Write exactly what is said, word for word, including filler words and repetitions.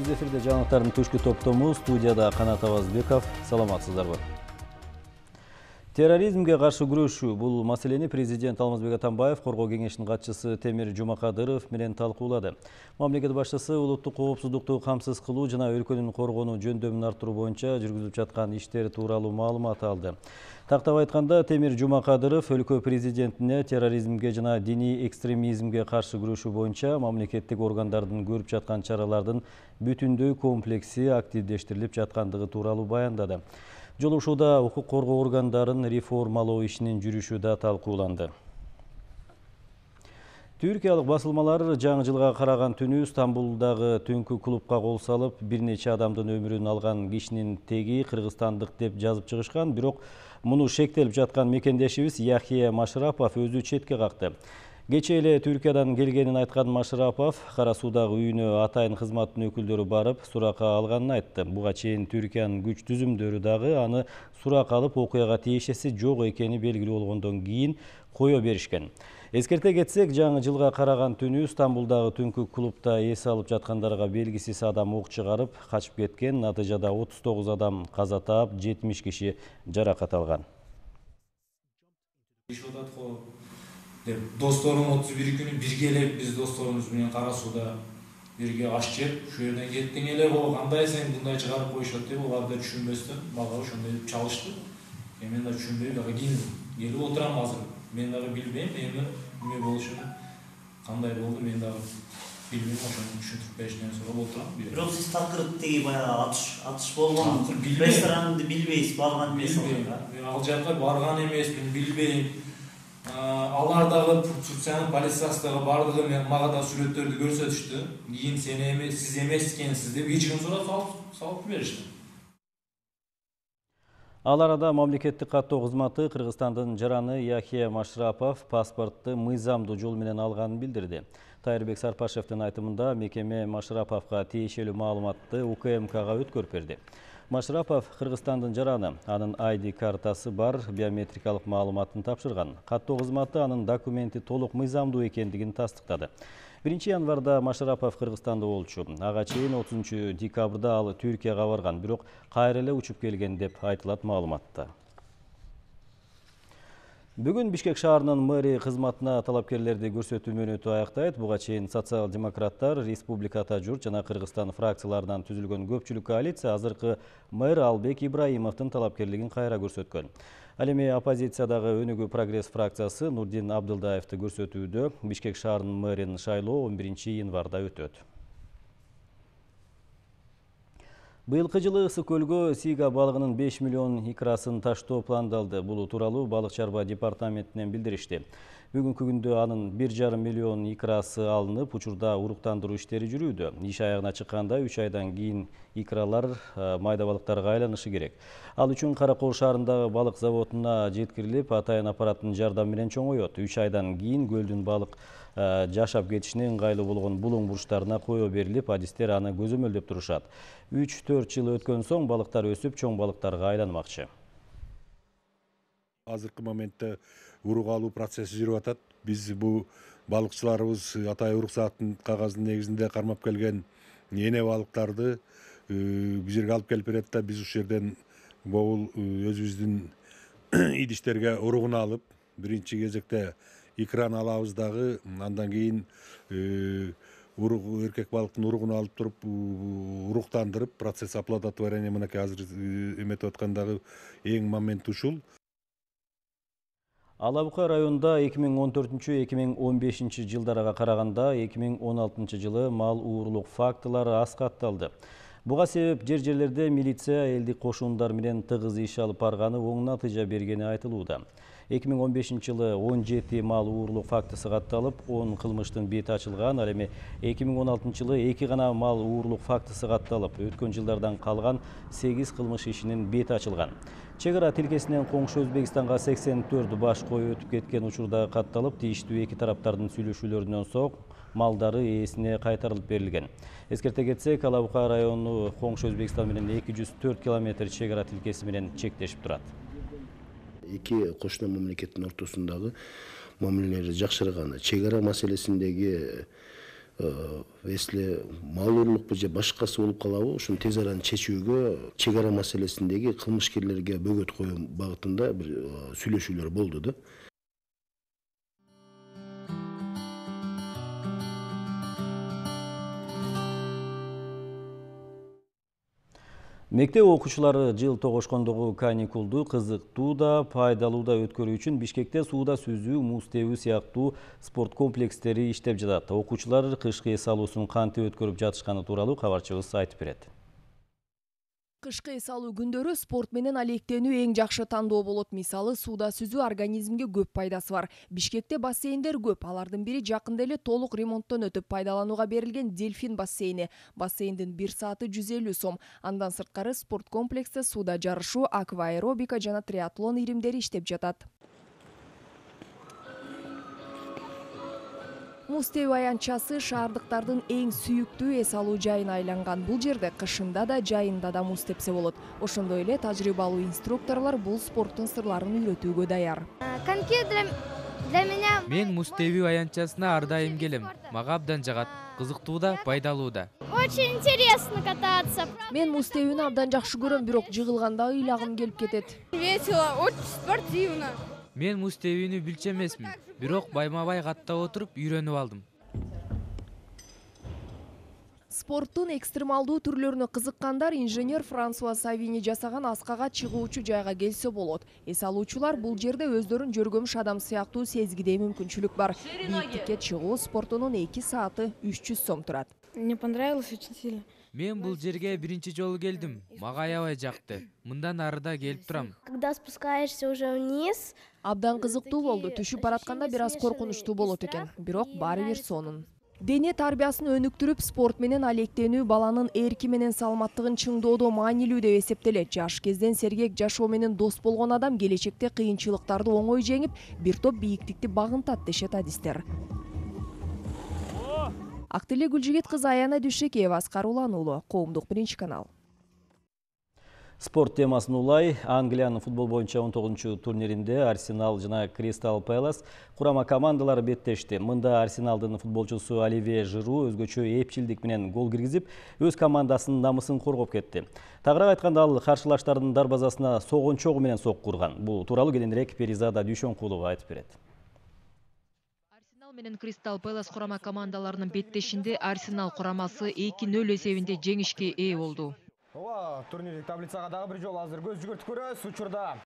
Биз эфирде жаңылыктардын түшкү топтому, студияда Канат Абазбеков. Саламатсыздарбы? Терроризмге каршы күрөшүү бул маселени президент Алмазбек Атамбаев Коргоо кеңешинин катчысы Темир Жумакадыров менен талкуулады. Мамлекет башчысы улуттук коопсуздукту камсыз кылуу жана өлкөнүн коргонуу жөндөмүн арттыруу боюнча жүргүзүлүп жаткан иштер тууралуу маалымат алды. Тактап айтканда, Темир Жумакадыров өлкө президентине терроризмге жана диний экстремизмге каршы күрөшүү боюнча мамлекеттик органдардын көрүп жаткан чаралардын бүтүндөй комплекси активдештирилип жаткандыгы тууралуу баяндады. Жолугушууда укук коргоо органдарын реформалоо ишинин жүрүшү да талкууланды. Түркиялык басылмалар жаңы жылга караган түнү Стамбулдагы түнкү клубка кол салып, бир нече адамдын өмүрүн алган кишинин теги кыргызстандык деп жазып чыгышкан, бирок муну шектелип жаткан мекендешибиз Яхия Машрапов өзү четке какты. Кечээ эле Түркиядан келгенин айткан Машрапов Кара Суудагы үйүнө атайын кызматтын өкүлдөрү барып, суракка алганын айтты. Буга чейин Түркиянын күч түзүмдөрү дагы аны суракка алып, окуяга тиешеси жок экени белгилүү болгондон кийин кое беришкен. Эскерте кетсек, жаңы жылга караган түнү Стамбулдагы түнкү клубда эс алып жаткандарга белгисиз адам ок чыгарып качып кеткен. Натыйжада отуз тогуз адам каза таап, жетимиш киши жаракат алган. Досторум отуз бир күнү бирге эле биз досторубуз менен Кара Сууда бирге аш жеп, ушул жерден кеттиң эле, о кандай сен мындай чыгарып коюшат деп алар да түшүнбөстөн мага ошондой чалышты. Мен да түшүнбөй дагы кийин келип отурам азыр. Мен дагы билбейм, эми эмне болушун, кандай болду мен дагы билбейм, ошону түшүндүрүп беришинен сурап отурам. Бирок сиз такырыптагы баягы атыш атыш болгон ресторанды билбейсиз, барган эмессиз. Мен ал жака барган эмесмин, билбейм. Алар дагы Турциянын полициясы дагы бардыгы мага да сүрөттөрдү көрсөтүштү. Кийин сен эмес, сиз эмес экенсиз деп эч ким сурап салып беришти. Ал арада мамлекеттик каттоо кызматы Кыргызстандын жараны Яхия Машрапов паспортту мыйзамдуу жол менен алганын билдирди. Тайырбек Сарпашевдин айтымында, мекеме Машраповго тиешелүү маалыматты У К М Кга өткөрүп берди. Машрапов Кыргызстандын жараны, анын ай ди картасы бар, биометрикалык маалыматын тапшырган. Каттоо кызматы анын документи толук мыйзамдуу экендигин тастыктады. биринчи январда Машрапов Кыргызстанда болчу. Ага чейин отузунчу декабрда ал Түркияга барган, бирок кайра эле учуп келген деп айтылат маалыматта. Бүгүн Бишкек шаарынын мэри кызматына талапкерлерди көрсөтүү мөөнөтү аяктайт. Буга чейин социал-демократтар, Республика Ата журт жана Кыргызстан фракцияларынан түзүлгөн көпчүлүк коалиция азыркы мэр Албек Ибраимовдун талапкерлигин кайра көрсөткөн. Ал эми оппозициядагы Өнүгүү прогресс фракциясы Нурдин Абдылдаевди көрсөтүүдө. Бишкек шаарынын мэрин шайлоо он биринчи январда өтөт. Быйылкы жылы Ысык көлгө сига балыгынын беш миллион икрасын таштоо пландалды. Бул тууралуу балык чарба департаментинен билдиришти. Бүгүнкү күндө анын бир жарым миллион икрасы алынып, учурда уруктандыруу иштери жүрүүдө. Иш аягына чыкканда үч айдан кийин икралар майда балыктарга айланышы керек. Ал үчүн Каракол шаарындагы балык заводуна жеткирилип, атайын аппараттын жардамы менен чоңоет. үч айдан кийин көлдүн балык жашап кетишине ыңгайлуу болгон булуң бурчтарына кое берилип, адистер аны көзөмөлдөп турушат. үч төрт жыл өткөн соң балыктар өсүп, чоң балыктарга айланмакчы. Азыркы моментте урук алуу процесси жүрүп атат. Биз бул балыкчыларыбыз атай уруксааттын кагазынын негизинде кармап келген эне балыктарды бул жерге алып келип берет да, биз ушул жерден могул өзүбүздүн идиштерге уругун алып, биринчи кезекте икраны алабыз дагы, андан кийин урук эркек балыктын уругун алып туруп уруктандырып, процесс оплодотворение мынакей азыр эметип аткандагы эң момент ушул. Ала Бука районунда эки миң он төртүнчү — эки миң он бешинчи жылдарга караганда эки миң он алтынчы жылы мал уурлук фактылары аз катталды. Буга себеп жер жерлерде милиция элдик кошундар менен тыгыз иш алып барганы оң натыйжа бергени айтылууда. эки миң он бешинчи жылы он жети мал уурлук фактысы катталып, он кылмыштын бети ачылган. Ал эми эки миң он алтынчы жылы эки гана мал уурлук фактысы катталып, өткөн жылдардан калган сегиз кылмыш ишинин бети ачылган. Чек ара тилкесинен коңшу Өзбекстанга сексен төрт баш кой өтүп кеткен учурда катталып, тийиштүү эки тараптардын сүйлөшүүлөрүнөн соң малдары ээсине кайтарылып берилген. Эскерте кетсек, Ала Бука району коңшу Өзбекстан менен эки жүз төрт километр чек ара тилкеси менен чектешип турат. Эки кошуна мамлекеттин ортосундагы мамилелер жакшырган. Чек ара маселесиндеги если мал уурлукпу же башкасы болуп калабы, ушуну тез арада чечүүгө чек ара маселесиндеги кылмышкерлерге бөгөт коюу багытында бир сүйлөшүүлөр болду да. Мектеп окуучулары жыл тогошкондогу каникулду кызыктуу да, пайдалуу да өткөрүү үчүн Бишкекте сууда сүзүү, муз тебүү сыяктуу спорт комплекстери иштеп жатат. Окуучулар кышкы эс алуусун кантип өткөрүп жатышканы тууралуу кабарчыбыз айтып берет. Кышкы эс алуу күндөрү спорт менен алектенүү эң жакшы тандоо болот. Мисалы, сууда сүзүү организмге көп пайдасы бар. Бишкекте бассейндер көп. Алардын бири жакында эле толук ремонттон өтүп пайдаланууга берилген Дельфин бассейни. Бассейндин бир сааты жүз элүү сом. Андан сырткары спорт комплексте сууда жарышуу, акваэробика жана триатлон иримдери иштеп жатат. Муз тебүү аянтчасы шаардыктардын эң сүйүктүү эс алуу жайына айланган. Бул жерде кышында да, жайында да муз тепсе болот. Ошондой эле тажрыйбалуу инструкторлор бул спорттун сырларын үйрөтүүгө даяр. Коньки для меня... Мен муз тебүү аянтчасына ар дайым келем. Мага абдан жагат. Кызыктуу да, пайдалуу да. Очень интересно кататься. Мен муз тебүүнү абдан жакшы көрөм, бирок жыгылганда ыйлагым келип кетет. Весело, очень спортивно. Мен муз тебүүнү билчү эмесмин, бирок байма-бай каттап отуруп үйрөнүп алдым. Спорттун экстремалдуу түрлөрүнө кызыккандар инженер Франсуа Савини жасаган аскага чыгуучу жайга келсе болот. Эс алуучулар бул жерде өздөрүн жөргөмүш адам сыяктуу сезгидей мүмкүнчүлүк бар. Бийиктикке чыгуу спортунун эки сааты үч жүз сом турат. Мне понравилось очень сильно. Мен бул жерге биринчи жолу келдим. Мага аябай жакты. Мындан арыда келип турам. Когда спускаешься уже вниз, абдан кызыктуу болду. Түшүп баратканда бир аз коркунучтуу болот экен, бирок баары бир сонун. Дене тарбиясын өнүктүрүп, спорт менен алектенүү баланын эрки менен саламаттыгын чыңдоодо маанилүү деп эсептелет. Жаш кезден сергек жашоо менен дос болгон адам келечекте кыйынчылыктарды оңой жеңип, бир топ бийиктикти багынтат дешет адистер. Актыле Гүлжигит кызы Аяна Дүйшекеева, Аскар Улан уулу, Коомдук биринчи канал. Спорт темасын улай, Англиянын футбол боюнча он тогузунчу турниринде Арсенал жана Кристал Пэлас курама командалары беттешти. Мында Арсеналдын футболчусу Оливье Жиру өзгөчө эпчилдик менен гол киргизип, өз командасынын намысын коргоп кетти. Тагыраак айтканда, ал каршылаштардын дарбазасына согончогу менен сокку урган. Бул тууралуу кийинирээк Перизада Дүйшөнкулова айтып берет. Арсенал менен Кристал Пэлас курама командаларынын беттешинде Арсенал курамасы эки нөл эсебинде жеңишке ээ болду. Ооба, турнирлик таблицага дагы бир жолу азыр көз жүгүртүп көрөбүз. Учурда